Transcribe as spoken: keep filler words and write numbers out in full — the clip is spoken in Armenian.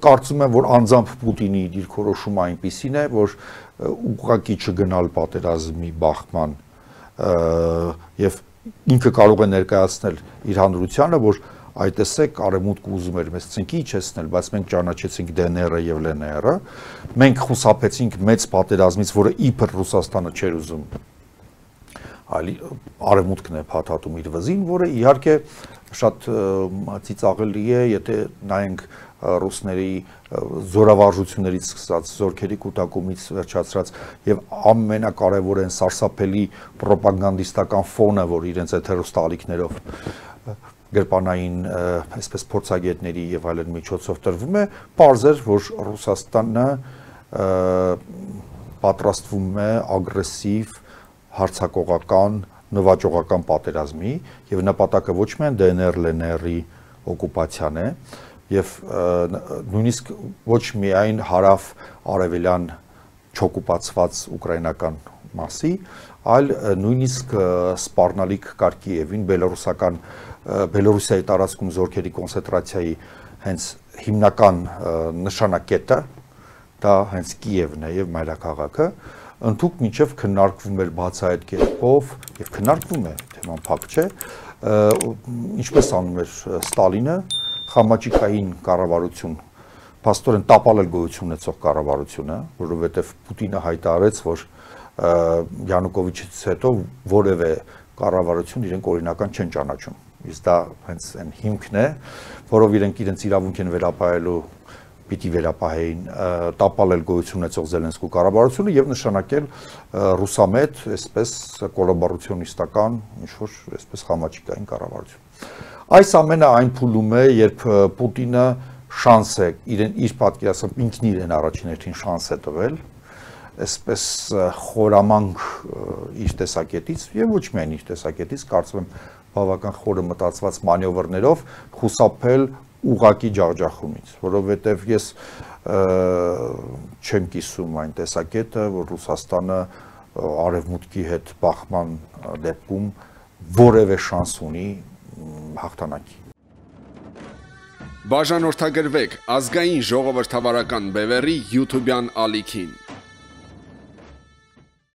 կարծում եմ, որ անձամբ Պուտինի դիրքորոշումը այնպիսին է, որ ուղղակի չգնալ պատերազմի բախման եւ ինքը կարող է ներկայացնել իր հանրությանը, որ այդ տեսեք արևմուտքը ուզում էր մեզ ցնկի իջեցնել, բայց մենք ճանաչեցինք դե են էրը եւ լեն էրը, մենք խուսափեցինք մեծ պատերազմից, որը իբր Ռուսաստանը չէր ուզում, այլ արևմուտքն է փաթաթում իր վզին, որը իհարկե շատ ծիծաղելի է, եթե նայենք ռուսների զորավարժություններից սկսած, զորքերի կուտակումից վերջացրած եւ ամենակարևորը են սարսափելի ռոպագանդիստական ֆոնը, որ իրենց այդ հեռուստաալիքներով գրպանային այսպես փորձագետների եւ այլն միջոցով տրվում է, պարզ էր, որ Ռուսաստանը պատրաստվում է ագրեսիվ, հարձակողական, նվաճողական պատերազմի եւ նպատակը ոչ միայն դե են էր լեն էրի օկուպացիան է եւ նույնիսկ ոչ միայն հարավ արևելյան չօկուպացված ուկրաինական մասի, այլ նույնիսկ սպառնալիք Կարկիևին, բելոռուսական Բելոռուսիայի տարածքում զորքերի կոնցենտրացիայի հենց հիմնական նշանակետը դա հենց Կիևն է եւ մայրաքաղաքը, ընդհանուր մինչեւ քննարկվում էր բացահայտ կերպով եւ քննարկվում է, թեման փակ չէ, ինչպես անում էր Ստալինը, խամաճիկային կառավարություն, փաստորեն տապալել գոյություն ունեցող կառավարությունը, որովհետեւ Պուտինը հայտարարեց, որ Յանուկովիչից հետո որևէ կառավարություն իրենք օրինական չեն ճանաչում։ Իսկ դա հենց այն հիմքն է, որով իրենք իրենց իրավունք են վերապահելու, պիտի վերապահեին, տապալել գոյություն ունեցող Զելենսկու կառավարությունը եւ նշանակել ռուսամետ, այսպես կոլաբորացիոնիստական, ինչ որ այսպես խամաճիկային կառավարություն։ Այս ամենը այն փուլում է, երբ Պուտինը շանս է իրեն իր պատկերացում ինքն իրեն առաջին հերթին շանս է տվել, այսպես խորամանկ իր տեսակետից եւ ոչ միայն իր տեսակետից, կարծում եմ բավական խորը մտածված մանևրներով խուսափել ուղակի ջախջախումից, որովհետև ես չեմ կիսում այն տեսակետը, որ Ռուսաստանը արևմուտքի հետ բախման դեպքում որևէ շանս ունի հաղթանակի։ Բաժանորդագրվեք ազգային ժողովրդավարական բևեռի յութուբյան ալիքին։